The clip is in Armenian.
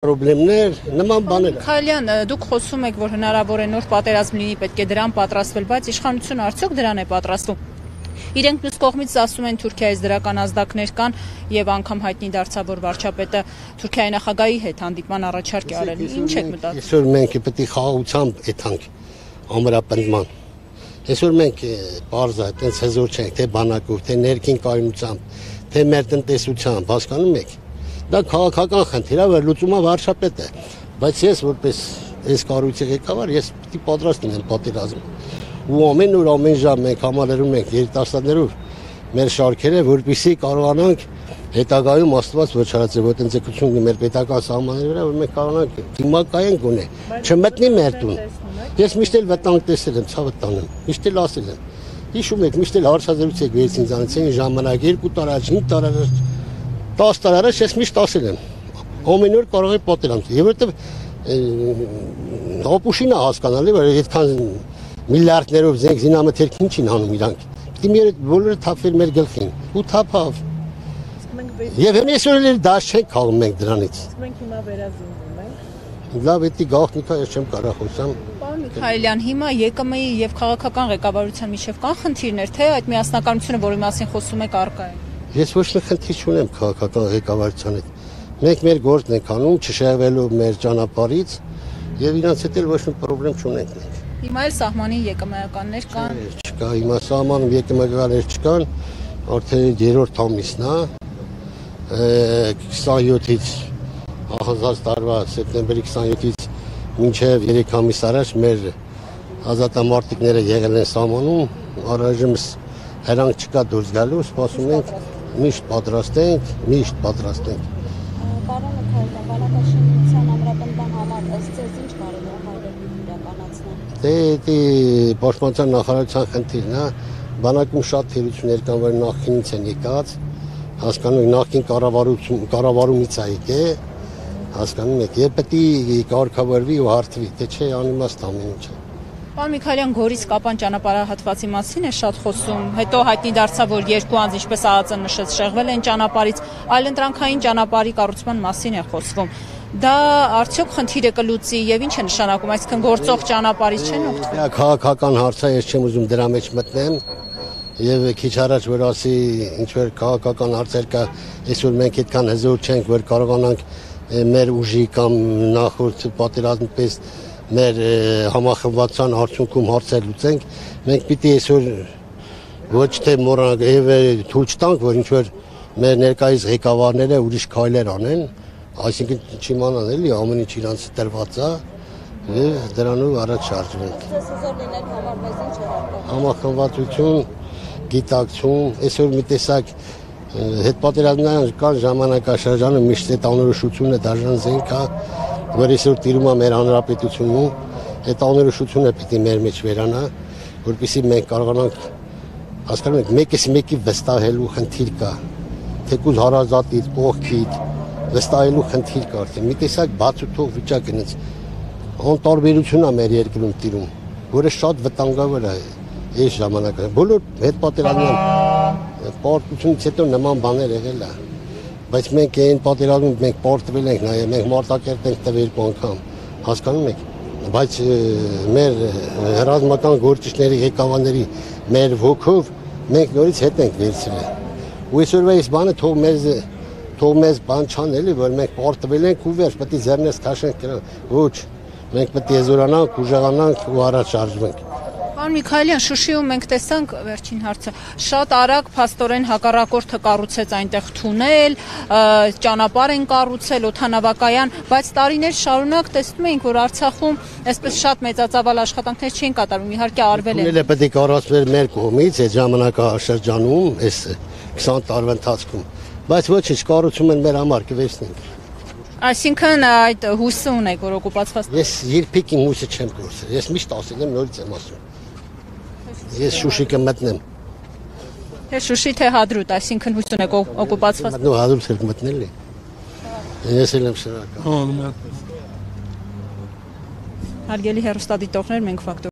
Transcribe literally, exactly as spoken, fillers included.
Պրոբլեմներ, նման բաներ։ Քալյան, դուք խոսում եք, որ հնարավոր է նոր պատերազմ լինի, պետք է դրան պատրաստվել, բայց իշխանությունը արդյոք դրան է պատրաստվում։ Իրենք մյուս կողմից ասում են Թուրքիայից դրական ազդակներ կան եւ անգամ հայտնի դարձավ, որ վարչապետը Թուրքիայի նախագահի հետ հանդիպման առաջարկ է արել։ Ինչ եք մտածում։ Այսօր մենք պետք է խաղաղությամբ եթանք ամրապնդման։ Այսօր մենք բարձր այդպես հզոր չենք, թե բանակով, թե ներքին կայունությամբ, թե մեր տնտեսությամբ, հասկանում եք։ Դա քաղաքական խնդիր է, որ լուծումը վարչապետը է, բայց ես որպես այս կառույցի ղեկավար ես պիտի պատրաստ լինեմ պատերազմ։ Ու ամեն օր ամեն ժամ մենք համալրում ենք երիտասարդներով մեր շարքերը, որպեսզի կարողանանք հետագայում Աստված ոչարացե ոտնձգություն մեր պետական սահմանների վրա, որ մենք կարողանանք դիմակայենք գոնե, չմտնի մեր տուն։ Ես միշտ էլ վտանգ տեսել եմ, ցավը տանեմ, միշտ էլ ասել եմ։ Հիշում եք, միշտ էլ հարցազրույց եք վերցին ինձանից այն ժամանակ երկու տարի առաջ, հինգ տարի առաջ, տասը տարի առաջ ես միշտ ասել եմ։ Ամեն օր կարող է պատերազմ։ Եվ որտեվ Հապուշին է հասկանալի, որ այդքան միլիարդներով զենք զինամթերք ինչ են անում իրանք։ Պիտի մեր բոլորը թափվեր մեր գլխին։ Ու թափավ։ Եվ հենց էլ դաշ չենք քաղում մենք դրանից։ Մենք հիմա վերազինվում ենք։ Լավ, էդի գաղտնիքա ես չեմ կարող խոսամ։ Պարոն Միքայելյան, հիմա ԵԿՄ-ի եւ քաղաքական ղեկավարության միջև կան խնդիրներ, թե այդ միասնականությունը, որի մասին խոսում եք, առկա է։ Ես ոչ մի խնդիր չունեմ քաղաքական ղեկավարության հետ։ Մենք մեր գործն ենք անում, չշեղվելով մեր ճանապարհից եւ իրանց հետ էլ ոչ մի խնդրեմ չունենք մենք։ Հիմա էլ սահմանի ԵԿՄ-ականներ կան։ Չկա, հիմա սահմանում ԵԿՄ-ականներ չկան, արդեն երրորդ ամիսն է, քսանյոթից ահազած տարվա սեպտեմբերի քսանյոթից մինչև երեք ամիս առաջ մեր ազատամարտիկները եղել են սահմանում, առայժմ հրանք չկա դուրս գալու, սպասում ենք, միշտ պատրաստ ենք, միշտ պատրաստ ենք։ Պարոն Միքայելյան, բանակաշինության ամրապնդման համար ըստ ձեզ ինչ կարելի է հայրենիք իրականացնել։ Դե դե պաշտպանության նախարարության խնդիրն է, բանակում շատ թերություններ կան, որ նախկինից են եկած, հասկանում եք, նախկին կառավարություն կառավարումից է եկել, հասկանում եք, եւ պետք է կարգավորվի ու հարթվի, թե չէ անիմաստ ամեն ինչը։ Պարոն Միքայելյան, Գորիս Կապան ճանապարհահատվածի մասին է շատ խոսում, հետո հայտնի դարձավ, որ երկու անձ, ինչպես ԱԱԾ-ը նշեց, շեղվել են ճանապարհից, այլընտրանքային ճանապարհի կառուցման մասին է խոսվում։ Դա արդյոք խնդիր է կլուծի եւ ինչ է նշանակում, այսինքն գործող ճանապարհից չեն օգտվում։ Դա քաղաքական հարց է, ես չեմ ուզում դրա մեջ մտնեմ եւ քիչ առաջ որ ասի ինչ որ քաղաքական հարցեր կա, այսօր մենք այդքան հզոր չենք, որ կարողանանք մեր ուժի կամ նախորդ պատերազմի պես մեր համախմբվածության արդյունքում հարցեր լուծենք, մենք պիտի այսօր ոչ թե մոռանանք եւ թույլ չտանք, որ ինչ որ մեր ներկայիս ղեկավարները ուրիշ քայլեր անեն, այսինքն չիմանան էլի ամեն ինչ իրանց տրված է եւ դրանով առաջ շարժվենք։ Ձեզ հզոր լինելու համար մեզ ինչ է հարկավոր։ Համախմբվածություն, գիտակցում, այսօր մի տեսակ հետպատերազմյան կան ժամանակաշրջանը միշտ այդ անորոշությունը դաժան զենք է, որ այսօր տիրում է մեր հանրապետությունում, այդ անորոշությունը պիտի մեր մեջ վերանա, որպեսզի մենք կարողանանք, հասկանում եք, մեկից մեկի վստահելու խնդիր կա, թեկուզ հարազատից, կողքից, վստահելու խնդիր կա արդեն, մի տեսակ բացուտող վիճակ է, անտարբերություն է մեր երկրում տիրում, որը շատ վտանգավոր է այս ժամանակը։ Բոլոր հետպատերազմյան պարտությունից հետո նման բաներ եղել է, բայց մենք այն պատերազմում մենք պարտվել ենք նաև, մենք մարտակերտ ենք տվել երկու անգամ, հասկանում եք, բայց մեր ռազմական գործիչների ղեկավարների մեր ոգով մենք նորից հետ ենք վերցրել։ Ու այսօրվա այս բանը թող մեզ թող մեզ բան չան էլի, որ մենք պարտվել ենք ու վերջ, պետք է ձեռներս քաշենք, ոչ, մենք պետք է զորանանք, ուժեղանանք ու առաջ շարժվենք։ Պարոն Միքայելյան, Շուշիում մենք տեսանք վերջին հարցը, շատ արագ փաստորեն հակառակորդը կառուցեց այնտեղ թունել, ճանապարհ են կառուցել, օդանավակայան, բայց տարիներ շարունակ տեսնում էինք, որ Արցախում այսպես շատ մեծածավալ աշխատանքներ չեն կատարվում, իհարկե արվել են։ Թունելը պետք է կառուցվեր մեր կողմից այդ ժամանակաշրջանում, այս քսան տարվա ընթացքում, բայց ոչինչ կառուցում են մեր համար կվերցնենք։ Այսինքն այդ հույսը ունեք, որ օկուպացված։ Ես երբեք իմ հույսը չեմ կորցրել, ես միշտ ասել եմ, նորից եմ ասում։ Ես Շուշի կմտնեմ։ Թե Շուշի թե Հադրուտ, այսինքն հույս ունեք օկուպացված։ Մտնու Հադրուտ եք մտնել է։ Ես էլ եմ շնորհակալ։ Հարգելի հեռուստադիտողներ, մենք ֆակտոր